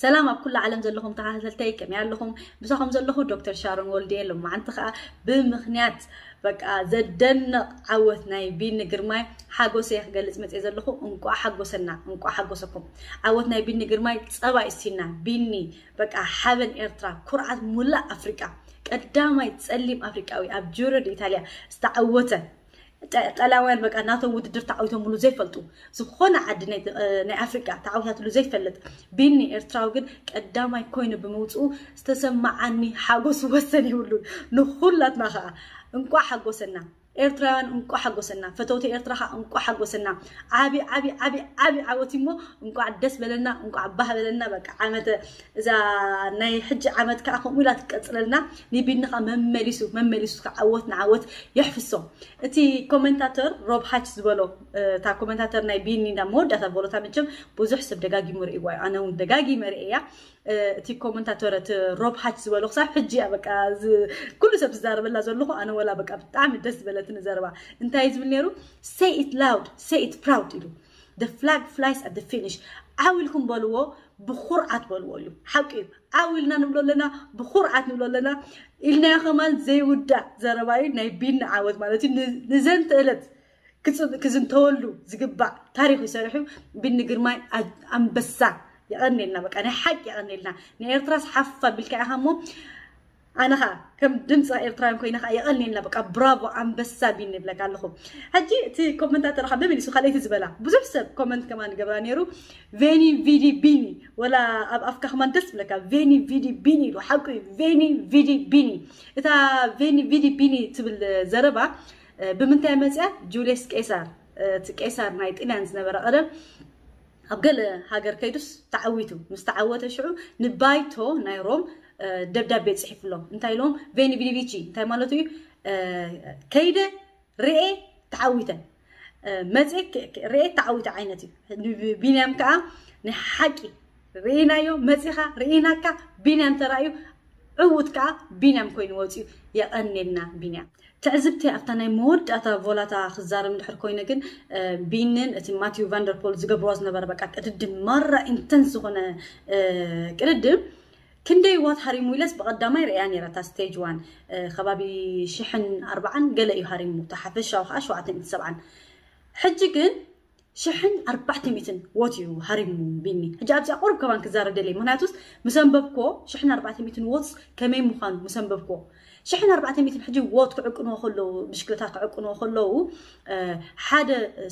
ሰላም ኣብ ኩሉ ዓለም ዘለኹም ተኸታተልተይ፣ ከመይ ኣለኹም? ምሳኹም ዘለኹ ዶክተር ሻሮን ወልድየ። ሎማዓንቲ ከዓ ብምኽንያት በቃ ዘደንቕ ዓወት ናይ ቢኒ ግርማይ ሓጎሰይ ክገልጽ መጽየ ዘለኹ። እንቋዕ ሓጎሰና፣ እንቋዕ ሓጎሰኩም። ዓወት ናይ ቢኒ ግርማይ ጸባ ይስቲና። ቢኒ በቃ ሓበን ኤርትራ፣ ኩርዓት ሙላእ ኣፍሪቃ፣ ቀዳማይ ጸሊም ኣፍሪቃዊ ኣብ ጁሮ ዲ ኢታልያ ዝተዓወተ። ጠላውያን በቃ ናቶም ውድድር ተዓዊቶምሉ ዘይፈልጡ፣ ዝኾነ ዓዲ ናይ ኣፍሪቃ ተዓዊታትሉ ዘይፈልጥ ቢኒ ኤርትራዊ ግን ቀዳማይ ኮይኑ ብምውፅኡ ዝተሰማዓኒ ሓጎስ ወሰን ይብሉን። ንኹላትና ከዓ እንቋዕ ሓጎሰና። ኤርትራውያን እንቋዕ ሓጎሰና። ፈተውቲ ኤርትራ ከዓ እንቋዕ ሓጎሰና። ዓቢ ዓቢ ዓቢ ዓቢ ዓወት እሞ እንቋዕ ደስ በለና፣ እንቋዕ ባህ በለና። በቃ ዓመተ እዛ ናይ ሕጂ ዓመት ከዓ ከምኡ ኢላ ትቀፅለልና። ንቢኒ ከዓ መመሊሱ መመሊሱ ከዓ ዓወት ንዓወት የሕፍሶ። እቲ ኮመንታተር ሮብ ሃች ዝበሎ እታ ኮመንታተር ናይ ቢኒ እንዳ መወዳእታ በሎታ። መቸም ብዙሕ ሰብ ደጋጊሙ ርእይዋ እዩ፣ ኣነ እውን ደጋጊመ ርእያ። እቲ ኮመንታተር እቲ ሮብ ሃች ዝበሎ ክሳብ ሕጂ እያ በቃ ኩሉ ሰብ ዝዛረበላ ዘለኹ። ኣነ ወላ በቃ ብጣዕሚ ደስ ዝበለትኒ ዘረባ። እንታይ ዝብል ነይሩ? Say it loud, say it proud ኢሉ። The flag flies at the finish. ዓው ኢልኩም በልዎ፣ ብኹርዓት በልዎ ኢሉ። ሓቂ እዩ። ዓው ኢልና ንብሎ ኣለና፣ ብኹርዓት ንብሎ ኣለና። ኢልናዮ ከማን ዘይውዳእ ዘረባ እዩ። ናይ ቢኒ ዓወት ማለት እዩ። ንዘንተ እለት ክዝንተወሉ ዝግባእ ታሪኽ ይሰርሑ። ቢኒ ግርማይ ኣንበሳ። የቐኔልና በቃ ናይ ሓቂ የቐኔልና። ንኤርትራስ ሓፍ ኣቢልካ ኢኻ እሞ ኣነ ኸዓ ከም ድምፂ ኤርትራውያን ኮይነ ኸዓ የቐኔልና በቃ ብራቮ ኣንበሳ ቢኒ ይብለካ ኣለኹ። ሕጂ እቲ ኮመንታተር ኸዓ መመሊሱ ካልኣይቲ ዝበላ ብዙሕ ሰብ ኮመንት ከማን ይገብራ ነይሩ። ቬኒ ቪዲ ቢኒ ወላ ኣብ ኣፍካ ከማን ደስ ብለካ። ቬኒ ቪዲ ቢኒ ኢሉ ሓቁ እዩ። ቬኒ ቪዲ ቢኒ። እታ ቬኒ ቪዲ ቢኒ ትብል ዘረባ ብምንታይ መፅያ? ጁልየስ ቄሳር፣ እቲ ቄሳር ናይ ጥልያን ዝነበረ ቀደም ኣብ ገለ ሃገር ከይዱስ ተዓዊቱ ምስ ተዓወተ ሽዑ ንባይቶ ናይ ሮም ደብዳቤ ፅሒፍሎም። እንታይ ኢሎም? ቬኒ ቪዲ ቪቺ እንታይ ማለት እዩ? ከይደ ርኤ ተዓዊተ መፅእ ርኤ ተዓዊተ ዓይነት እዩ። ቢንያም ከዓ ንሓቂ ርኢናዮ መፂኻ ርኢናካ ቢንያም ተራእዩ ዕዉት ከዓ ቢንያም ኮይኑ ወፂኡ። የቐኔልና ቢንያም። ትዕዝብቲ ኣብታ ናይ መወዳእታ ቮላታ ክዛረብ እንድሕር ኮይነ ግን ቢንን እቲ ማቲዩ ቫንደርፖል ዝገብርዋ ዝነበረ በቃ ቅድድም ማራ ኢንተንስ ዝኾነ ቅድድም ክንደይ ዋት ሃሪሙ ኢለስ ብቐዳማይ ርእያ ነይራ እታ ስቴጅ ዋን ከባቢ ሽሕን ኣርባዓን ገለ እዩ ሃሪሙ። እታ ሓፈሻዊ ከዓ ሸውዓተ ሚእትን ሰብዓን። ሕጂ ግን ሽሕን ኣርባዕተ ሚእትን ዎት እዩ ሃሪሙ ቢኒ። ሕጂ ኣብዚኣ ቁሩብ ከማን ክዛረብ ደለየ። ምክንያቱስ ምስ ኣንበብክዎ ሽሕን ኣርባዕተ ሚእትን ዎትስ ከመይ ምዃኑ ምስ ኣንበብክዎ ሽሕን ኣርባዕተ ሚእትን ሕጂ ዎት ክዕቅንዎ ከለዉ ብሽክለታ ክዕቅንዎ ከለዉ ሓደ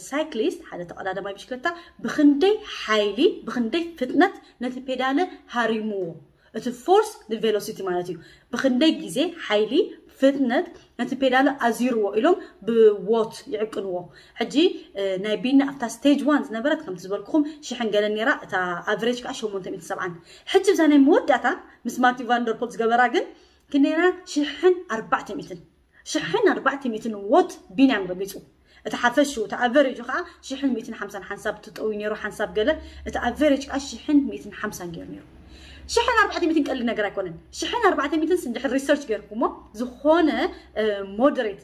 ሳይክሊስት ሓደ ተቐዳዳማይ ብሽክለታ ብክንደይ ሓይሊ ብክንደይ ፍጥነት ነቲ ፔዳለ ሃሪምዎ። እቲ ፎርስ ንቬሎሲቲ ማለት እዩ። ብክንደይ ግዜ ሓይሊ ፍጥነት ነቲ ፔዳለ ኣዚርዎ ኢሎም ብዎት ይዕቅንዎ። ሕጂ ናይ ቢኒ ኣብታ ስቴጅ ዋን ዝነበረት ከምቲ ዝበልኩኹም ሽሕን ገለን ነይራ፣ እታ ኣቨሬጅ ከዓ ሸሞንተ ሚእትን ሰብዓን። ሕጂ ብዛ ናይ መወዳእታ ምስ ማቲ ቫንደርፖል ዝገበራ ግን ክንደይና ሽሕን ኣርባዕተ ሚእትን ሽሕን ኣርባዕተ ሚእትን ዎት ቢንያም ረጊፁ። እቲ ሓፈሹ እቲ ኣቨሬጁ ከዓ ሽሕን ሚእትን ሓምሳን ሓንሳብ ትጠዊ ነይሩ ሓንሳብ ገለ እቲ ኣቨሬጅ ከዓ ሽሕን ሚእትን ሓምሳን ገይሩ ነይሩ። ሽሕን ኣርባዕተ ሚእትን ቀሊል ነገር ኣይኮነን። ሽሕን ኣርባዕተ ሚእትን እንድሕር ሪሰርች ገይርኩሞ ዝኾነ ሞደሬት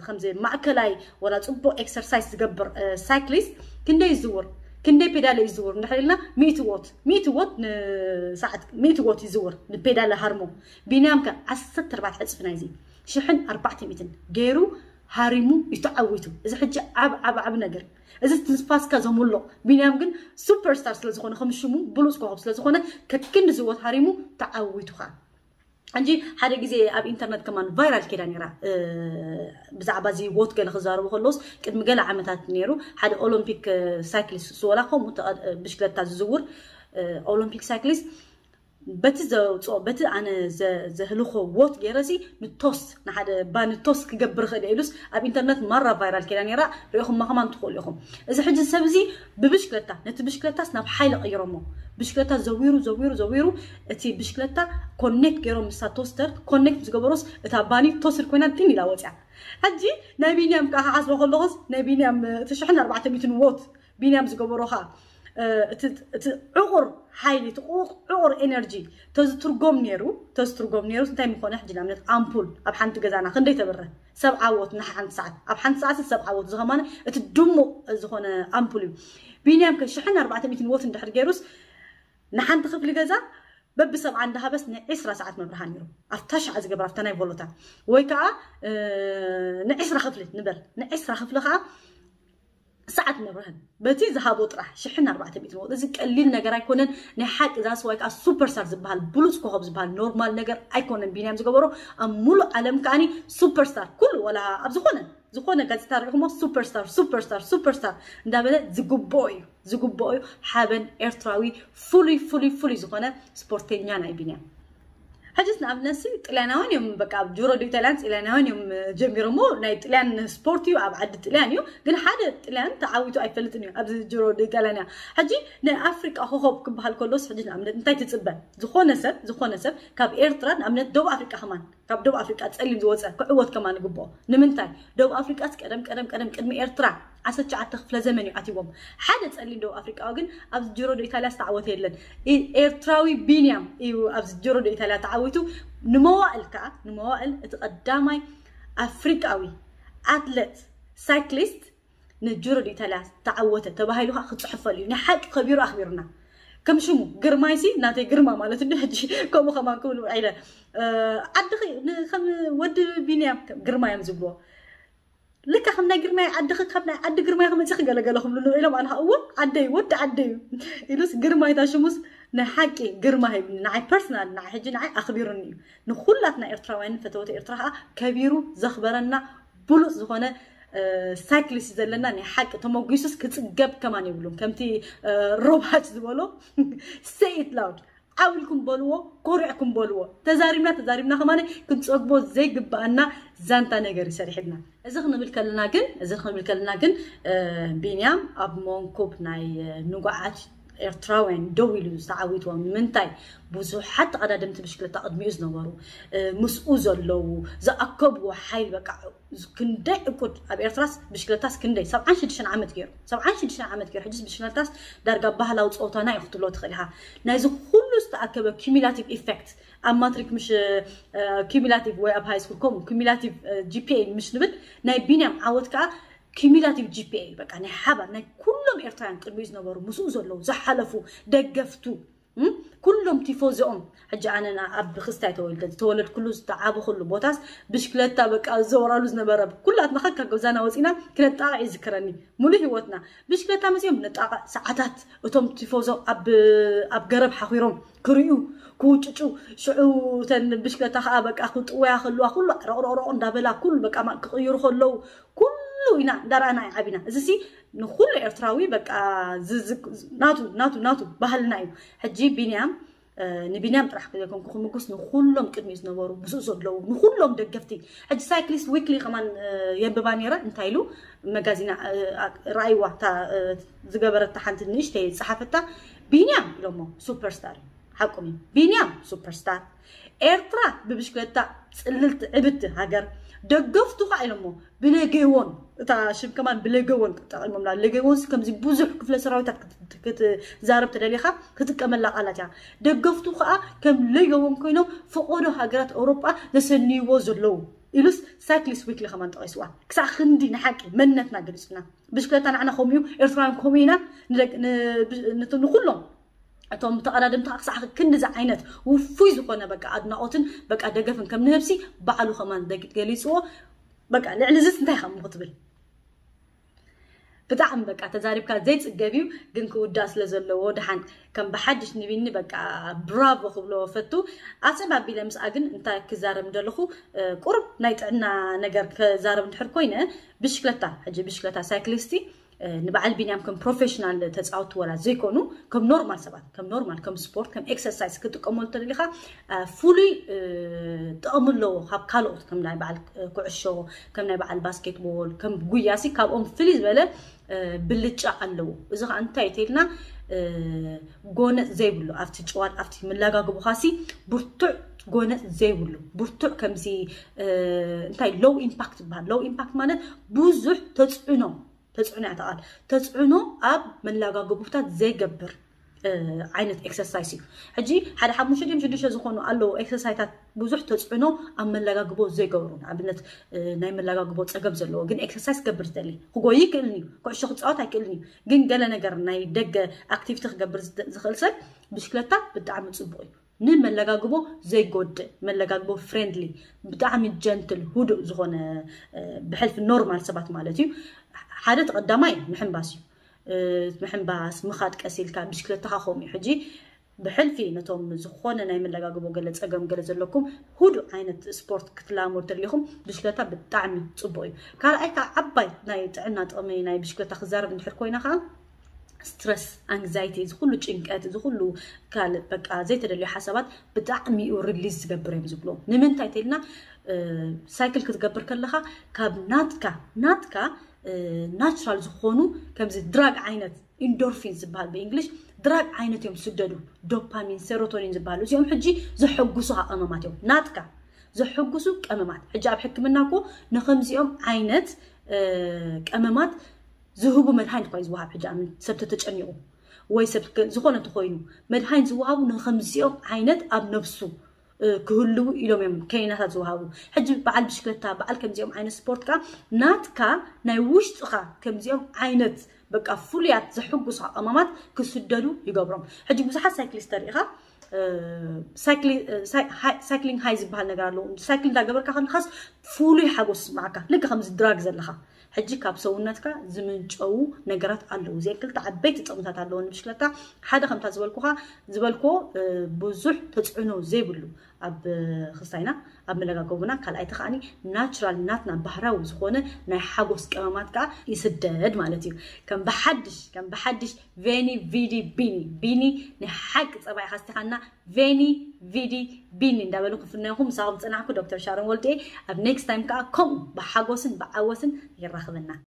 ከምዚ ማእከላይ ወላ ፅቡቅ ኤክሰርሳይዝ ዝገብር ሳይክሊስት ክንደይ ይዝውር ክንደይ ፔዳለ ይዝውር እንድሕር ኢልና ሚእቲ ዎት ሚእቲ ዎት ንሰዓት ሚእቲ ዎት ይዝውር ንፔዳለ ሃርሞ። ቢንያም ከ ዓሰርተ ኣርባዕተ ዕፅፊ ናይዚ ሽሕን ኣርባዕተ ሚእትን ገይሩ ሃሪሙ እዩ ተዓዊቱ። እዚ ሕጂ ዓብ ዓብ ዓብ ነገር እዚ ትንፋስካ ዘምልቕ ቢንያም ግን ሱፐርስታር ስለ ዝኾነ ከም ሽሙ ብሉፅ ኮኸብ ስለ ዝኾነ ከክንዲ ዝወት ሃሪሙ ተዓዊቱ ከዓ እንጂ ሓደ ግዜ ኣብ ኢንተርነት ከማን ቫይራል ኬዳ ነይራ ብዛዕባ እዚ ዎት ገለ ክዛረቡ ከለውስ ቅድሚ ገለ ዓመታት ነይሩ ሓደ ኦሎምፒክ ሳይክሊስት ዝወላ ከምኡ ብሽክለታ ዝዝውር ኦሎምፒክ ሳይክሊስት በቲ ዘውፅኦ በቲ ኣነ ዘህልኮ ዎት ገይረሲ ንቶስ ንሓደ ባኒ ቶስ ክገብር ኽእል ኢሉስ ኣብ ኢንተርነት ማራ ቫይራል ኬዳ ነይራ ሪኢኹማ ከማን ትኽእሉ ኢኹም። እዚ ሕጂ ሰብ እዚ ብብሽክለታ ነቲ ብሽክለታስ ናብ ሓይሊ ቀይሮሞ ብሽክለታ ዘዊሩ ዘዊሩ ዘዊሩ እቲ ብሽክለታ ኮኔክት ገይሮም ምሳ ቶስተር ኮኔክት ዝገበሮስ እታ ባኒ ቶስድ ኮይና ጢን ኢላ ወፅያ። ሕጂ ናይ ቢንያም ከዓ ክሓስቦ ከለኹስ ናይ ቢንያም እቲ ሽሕን ኣርባዕተ ሚእትን ዎት ቢንያም ዝገበሮ ከዓ እቲ ዕቑር ሓይሊ እቲ ዕቑር ኤነርጂ ተዝትርጎም ነይሩ ተዝትርጎም ነይሩ እንታይ ምኾነ ሕጂ ንኣብነት ኣምፑል ኣብ ሓንቲ ገዛና ክንደይ ተብረ ሰብ ዓወት ንሓንቲ ሰዓት ኣብ ሓንቲ ሰዓት ሰብ ዓወት ዝኸማነ እቲ ድሙቕ ዝኾነ ኣምፑል እዩ። ቢንያም ከ ሽሕን ኣርባዕተ ሚእትን ዎት እንድሕር ገይሩስ ንሓንቲ ክፍሊ ገዛ በብሰብዓ እንዳሃበስ ንዒስራ ሰዓት መብርሃን ነይሩ። ኣብታ ሻዕ ዝገብር ኣብታ ናይ ቮሎታ ወይ ከዓ ንዒስራ ክፍሊ ንበል፣ ንዒስራ ክፍሊ ከዓ ሰዓት መብርህን በቲ ዝሃቦ ጥራሕ ሽሕን ኣርባዕተ ሚእቲ መውት። እዚ ቀሊል ነገር ኣይኮነን። ናይ ሓቂ ዛስ ዋይ ከዓ ሱፐርስታር ዝበሃል ብሉፅ ኮኸብ ዝበሃል ኖርማል ነገር ኣይኮነን። ቢንያም ዝገበሮ ኣብ ሙሉእ ዓለም ከዓኒ ሱፐርስታር ኩሉ ወላ ኣብ ዝኾነ ዝኾነ ጋዜጣ ሪኢኹሞ ሱፐርስታር ሱፐርስታር ሱፐርስታር እንዳበለ ዝግብኦ እዩ፣ ዝግብኦ እዩ። ሓበን ኤርትራዊ ፍሉይ ፍሉይ ፍሉይ ዝኾነ ስፖርተኛ ናይ ቢንያም። ሕጅስ ንኣብነት ሲ ጥልያናውያን እዮም፣ በቃ ኣብ ጁሮ ዶ ኢጣልያን ጥልያናውያን እዮም ጀሚሮሞ። ናይ ጥልያን ስፖርት እዩ፣ ኣብ ዓዲ ጥልያን እዩ። ግን ሓደ ጥልያን ተዓዊቱ ኣይፈልጥን እዩ ኣብዚ ጁሮ ዶ ኢጣልያን እያ። ሕጂ ናይ ኣፍሪቃ ኮኸብ ክበሃል ከሎስ ሕጂ ንኣብነት እንታይ ትጽበ? ዝኾነ ሰብ ዝኾነ ሰብ ካብ ኤርትራ ንኣብነት ደቡብ ኣፍሪቃ ከማን ካብ ደቡብ ኣፍሪቃ ጸሊም ዝወጸ ክዕወት ከማን ይግብኦ። ንምንታይ? ደቡብ ኣፍሪቃስ ቀደም ቀደም ቀደም ቅድሚ ኤርትራ ዓሰርተ ትሽዓተ ክፍለ ዘመን እዩ ኣትይዎም። ሓደ ጸሊም ደቡብ ኣፍሪቃዊ ግን ኣብዚ ጅሮ ዶ ኢታልያ ዝተዓወተ የለን። ኢ- ኤርትራዊ ቢንያም እዩ ኣብዚ ጅሮ ዶ ኢታልያ ተዓዊቱ። ንመዋእል ከዓ ንመዋእል እቲ ቀዳማይ ኣፍሪቃዊ ኣትለት ሳይክሊስት ንጅሮ ዶ ኢታልያ ተዓወተ ተባሂሉ ከዓ ክፅሕፈሉ እዩ። ንሓቂ ከቢሩ ኣኽቢሩና። ከም ሽሙ ግርማይሲ ናተይ ግርማ ማለት እንዲ ሕጂ ከምኡ ከማን ክብል ውዒለ ዓድኺ ከም ወዲ ቢንያም ግርማ እዮም ዝብልዎ። ልካ ከም ናይ ግርማይ ዓድኺ ካብ ናይ ዓዲ ግርማይ ክመፅእ ክገለገለ ክብሉ ንውዒሎም ኣነ እዎ ዓደይ ወዲ ዓደይ እዩ ኢሉስ ግርማይ እታ ሽሙስ ናይ ሓቂ ግርማ ሂብኒ ንዓይ ፐርሰናል ንዓይ ሕጂ ንዓይ ኣኽቢሩኒ እዩ። ንኩላትና ኤርትራውያን ፈተወተ ኤርትራ ከዓ ከቢሩ ዘኽበረና ብሉፅ ዝኾነ ሳይክሊስት ዘለና ናይ ሓቂ ተመጒሱስ ክፅገብ ከማን የብሉን። ከምቲ ሮባች ዝበሎ ሰይት ላውድ ዓው ኢልኩም በልዎ፣ ኮሪዕኩም በልዎ። ተዛሪብና ተዛሪብና ከማን ክንፀግቦ ዘይግባኣና ዛንታ ነገር ይሰሪሕልና። እዚ ክንብል ከለና ግን እዚ ክንብል ከለና ግን ቢንያም ኣብ መንኩብ ናይ ንጉዓት ኤርትራውያን ደው ኢሉ ዝተዓዊትዎም ንምንታይ? ብዙሓት ተቐዳደምቲ ብሽክለታ ቅድሚኡ ዝነበሩ ምስኡ ዘለዉ ዝኣከብዎ ሓይል በቃ ክንደይ ዕቁድ ኣብ ኤርትራስ ብሽክለታስ ክንደይ ሰብዓን ሽዱሽተን ዓመት ገይሩ ሰብዓን ሽዱሽተን ዓመት ገይሩ ሕጅስ ብሽክለታስ ዳርጋ ባህላዊ ፀወታና እዩ ክትብሎ ትኽእል ኢኻ። ናይዚ ኩሉ ዝተኣከበ cumulative effect ኣብ ማትሪክ ምሽ cumulative ወይ ኣብ ሃይ ስኩል ከምኡ cumulative GPA ምሽ ንብል ናይ ቢንያም ዓወት ከዓ cumulative GPA በቃ ናይ ሓባር ናይ ኩሎም ኤርትራውያን ቅድሚኡ ዝነበሩ ምስኡ ዘለዉ ዝሓለፉ ደገፍቱ ኩሎም ቲፎዚኦም ሕጂ ኣነና ኣብ ክስታይ ተወልደ ዝተወለድኩሉ ዝተዓበኹሉ ቦታስ ብሽክለታ በቃ ዘወራሉ ዝነበረ ኩላትና ከካ ገዛና ወፂና ክነጣቕዕ ይዝክረኒ። ሙሉ ህይወትና ብሽክለታ መፅኦም ንጣቕዕ ሰዓታት እቶም ቲፎዞ ኣብ ገረብ ሓኺሮም ክርእዩ ክውጭጩ ሽዑ ተን ብሽክለታ ከዓ በቃ ክጥወያ ከለዋ ኩሉ ረቕረቕረቕ እንዳበላ ኩሉ በቃ ክቕይሩ ከለዉ ኩሉ ኢና እንዳረኣና ኢና ዓቢና። እዚ ሲ ንኩሉ ኤርትራዊ በቃ ናቱ ናቱ ናቱ ባህልና እዩ። ሕጂ ቢንያም ንቢንያም ጥራሕ ዘይኮንኩ ክምጉስ ንኩሎም ቅድሚኡ ዝነበሩ ምስኡ ዘለዉ ንኩሎም ደገፍቲ ሕጂ ሳይክሊስት ዊክሊ ከማን የንብባ ነይረ እንታይ ኢሉ መጋዚና ረኣይዋ እታ ዝገበረታ ሓንቲ ንእሽተይ ዝፀሓፈታ ቢንያም ኢሎሞ ሱፐርስታር እዩ። ሓቁም እዩ። ቢንያም ሱፐርስታር ኤርትራ ብብሽክለታ ፅልልቲ ዕብቲ ሃገር ደገፍቱ ከዓ ኢሎሞ ብሌጌዎን እታ ሽም ከማን ብሌጌዎን ተጠቂሞምላ። ሌጌዎንስ ከምዚ ብዙሕ ክፍለ ሰራዊታት ክትዛረብ ተደሊኻ ክጥቀመላ ቃላት እያ። ደገፍቱ ከዓ ከም ሌጌዎን ኮይኖም ፈቆዶ ሃገራት ኣውሮጳ ዘሰንይዎ ዘለዉ ኢሉስ ሳይክሊስት ዊክሊ ከማን ጠቂስዋ። ክሳዕ ክንዲ ንሓቂ መንነትና ገሊፁና። ብሽክለታ ንዓና ከምኡ እዩ፣ ኤርትራውያን ከምኡ ኢና። ንኩሎም እቶም ተቐዳደምቲ ክሳዕ ክንዲዚ ዓይነት ውፉይ ዝኾነ በቃ ኣድናቆትን በቃ ደገፍን ከም ንህብሲ ባዕሉ ከማን ገሊፅዎ። በቃ ልዕሊ ዝስ እንታይ ከም ክትብል ብጣዕሚ በቃ ተዛሪብካ ዘይፅገብ እዩ። ግን ክውዳእ ስለ ዘለዎ ደሓን ከም ብሓድሽ ንቢኒ በቃ ብራቮ ክብሎ ፈቱ። ኣፅብ ኣቢለ ምስኣ ግን እንታይ ክዛረብ እንደለኹ ቁርብ ናይ ጥዕና ነገር ክዛረብ እንድሕር ኮይነ ብሽክለታ ሕጂ ብሽክለታ ሳይክሊስቲ ንበዓል ቢንያም ከም ፕሮፌሽናል ተፃወቲ ወላ ዘይኮኑ ከም ኖርማል ሰባት ከም ኖርማል ከም ስፖርት ከም ኤክሰርሳይዝ ክጥቀመሉ ተደሊኻ ፍሉይ ጥቕሚ ኣለዎ። ካብ ካልኦት ከም ናይ በዓል ኩዕሾ ከም ናይ በዓል ባስኬትቦል ከም ጉያሲ ካብኦም ፍልይ ዝበለ ብልጫ ኣለዎ። እዚ ከዓ እንታይ ተልና ጎነፅ ዘይብሉ ኣብቲ ጭዋል ኣብቲ መላጋግቦኻሲ ብርቱዕ ጎነፅ ዘይብሉ ብርቱዕ ከምዚ እንታይ ሎው ኢምፓክት ይበሃል። ሎው ኢምፓክት ማለት ብዙሕ ተፅዕኖ ተፅዕኖ እያ ተቓል ተፅዕኖ ኣብ መላጋግቦታት ዘይገብር ዓይነት ኤክሰርሳይስ እዩ። ሕጂ ሓደ ሓሙሽተ ድም ሽዱሽተ ዝኾኑ ኣለዉ ኤክሰርሳይታት ብዙሕ ተፅዕኖ ኣብ መለጋግቦ ዘይገብሩ፣ ንኣብነት ናይ መለጋግቦ ፀገም ዘለዎ ግን ኤክሰርሳይስ ክገብር ዝደሊ፣ ክጎይ ይክእልን እዩ፣ ኩዕሾ ክፃወት ኣይክእልን እዩ፣ ግን ገለ ነገር ናይ ደገ ኣክቲቪቲ ክገብር ዝኽእል ሰብ ብሽክለታ ብጣዕሚ ፅቡቅ እዩ። ንመለጋግቦ ዘይጎድእ፣ መለጋግቦ ፍሬንድሊ፣ ብጣዕሚ ጀንትል፣ ሁዱእ ዝኾነ፣ ብሕልፊ ኖርማል ሰባት ማለት እዩ። ሓደ ተቐዳማይ ምሕንባስ እዩ። ምሕንባስ፣ ምኻድ ቀስ ኢልካ፣ ብሽክለታኻ ከምኡ እዩ። ሕጂ ብሕልፊ ነቶም ዝኾነ ናይ መለጋግቦ ገለ ፀገም ገለ ዘለኩም ሁዱእ ዓይነት ስፖርት ክትላመዱ ተደሊኹም ብሽክለታ ብጣዕሚ ፅቡቅ እዩ። ካልኣይ ከዓ ዓባይ ናይ ጥዕና ጥቕሚ ናይ ብሽክለታ ክዛረብ እንድሕር ኮይና ከዓ ስትረስ፣ ኣንግዛይቲ፣ እዚ ኩሉ ጭንቀት፣ እዚ ኩሉ ካልእ በቃ ዘይተደልዩ ሓሳባት ብጣዕሚ እዩ ሪሊዝ ዝገብር እዮም ዝብሎ። ንምንታይ ተልና ሳይክል ክትገብር ከለኻ ካብ ናትካ ናትካ ናቹራል ዝኾኑ ከምዚ ድራግ ዓይነት ኢንዶርፊን ዝበሃል ብእንግሊሽ ድራግ ዓይነት እዮም ዝስደዱ፣ ዶፓሚን፣ ሴሮቶኒን ዝበሃሉ እዚኦም ሕጂ ዘሐጉሱ ቀመማት እዮም ናትካ ዘሐጉሱ ቀመማት። ሕጂ ኣብ ሕክምና እኮ ንከምዚኦም ዓይነት ቀመማት ዝህቡ መድሃኒት እኳ እዩ ዝወሃብ። ሕጂ ኣምን ሰብ ተተጨኒቑ ወይ ሰብ ዝኾነ ተኮይኑ መድሃኒት ዝወሃቡ ንከምዚኦም ዓይነት ኣብ ነብሱ ክህልዉ ኢሎም እዮም ከኒናታት ዝወሃቡ። ሕጂ በዓል ብሽክለታ በዓል ከምዚኦም ዓይነት ስፖርት ከዓ ናትካ ናይ ውሽጥኻ ከምዚኦም ዓይነት በቃ ፍሉያት ዘሕጉሱ ቀመማት ክስደዱ ይገብሮም። ሕጂ ብዙሓት ሳይክሊስት ተሪኢኻ ሳይክሊንግ ሃይ ዝበሃል ነገር ኣለዎ። ሳይክል እንዳገበርካ ከለካስ ፍሉይ ሓጎስ ይስማዓካ፣ ልክ ከምዚ ድራግ ዘለካ። ሕጂ ካብ ሰውነትካ ዝምንጨዉ ነገራት ኣለዉ። እዚአን ክልተ ዓበይቲ ጥቕምታት ኣለዎ ንብሽክለታ። ሓደ ከምታ ዝበልኩኻ ዝበልኮ ብዙሕ ተፅዕኖ ዘይብሉ ኣብ ክስታይና ኣብ መለጋገቡና፣ ካልኣይቲ ከዓኒ ናቹራል ናትና ባህራዊ ዝኾነ ናይ ሓጎስ ቀመማት ከዓ ይስደድ ማለት እዩ። ከም ብሓድሽ ከም ብሓድሽ ቬኒ ቪዲ ቢኒ ቢኒ ናይ ሓቂ ፀባይ ካስቲኻና ቬኒ ቪዲ ቢኒ እንዳበሉ ክፍነኹም ምሳኹም ዝፅናሕኩ ዶክተር ሻሮን ወልዴ። ኣብ ኔክስት ታይም ከዓ ከምኡ ብሓጎስን ብዓወትን የራኽበና።